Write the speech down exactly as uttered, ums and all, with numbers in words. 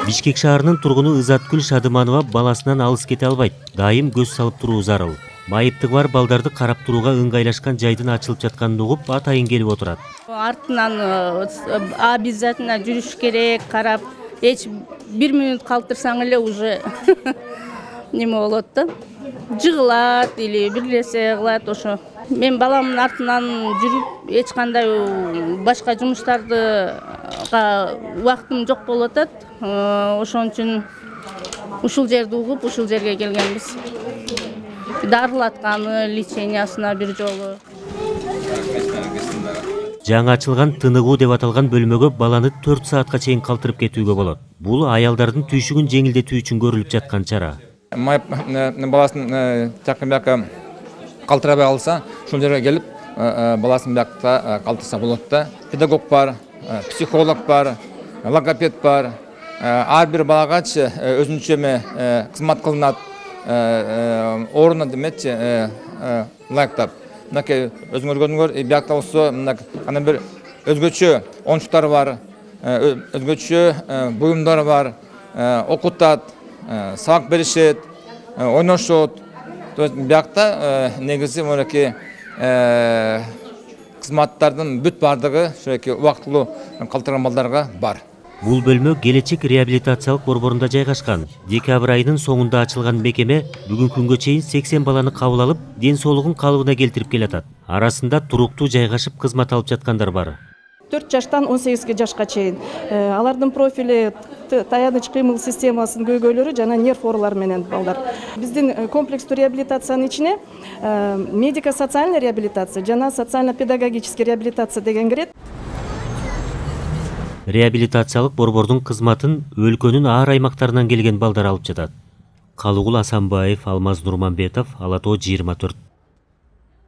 Бишкек шаарынын тургуну Ызаткүл Шадыманова баласынан алыс кете албайт. Дайым көз салып туруу зарыл. Майыптыгы бар балдарды карап турууга ыңгайлашкан жайдын ачылып жатканын угуп атайын келип отурат. Артынан обязательно жүрүш керек, карап, эч бир мүнөт калтырсаң эле уже неме болот да. Жыгылат или бир нерсе кылат ошо. Мен баламдын артынан жүрүп, эч кандай башка жумуштарды убактым жок болуп атат. Ошон үчүн ушул жерди угуп, ушул жерге келгенбиз. Дарылатканы, лечениясына бир жолу. Жаңы ачылган тыныгуу деп аталган бөлмөгө баланы төрт саатка чейин калтырып кетүүгө болот. Бул аялдардын түйшүгүн жеңилдетүү үчүн көрүлүп жаткан чара. Майып баласын жакын бияка калтырабай алса, ушул жерге келип, баласын биякта калтырса болот да. Педагог бар, психолог бар, логопед бар. Ар бир балагачы өзүнчө кызмат кылынат, орунна деметчи ылайыктап. Мынакей өзүңөр көрдүңөр, биякта болсо кандай бир өзгөчө оюнчуктар бар, өзгөчө буюмдар бар, окутат, сабак беришет, ойношот. То есть биякта негизи мынакей кызматтардын бүт бардыгы ошо убактылуу калтырган балдарга бар. Бул бөлмө Келечек реабилитациялык борборунда жайгашкан. Декабрь айынын соңунда ачылган мекеме бүгүнкү күнгө чейин сексен баланы кабыл алып, ден соолугун калыбына келтирип келатат. Арасында туруктуу жайгашып кызмат алып жаткандар бар. төрт жаштан он сегизге жашка чейин. Алардын профили таяныч кыймыл системасынын көйгөйлөрү жана нерв оорулары менен балдар. Биздин комплекстүү реабилитациянын ичине медико-социальный реабилитация жана социально-педагогический реабилитация деген кирет. Реабилитациялык борбордун кызматын өлкөнүн ар аймактарынан келген балдар алып жатат. Калыгул Асанбаев, Алмаз Нурманбетов, Ала Тоо жыйырма төрт.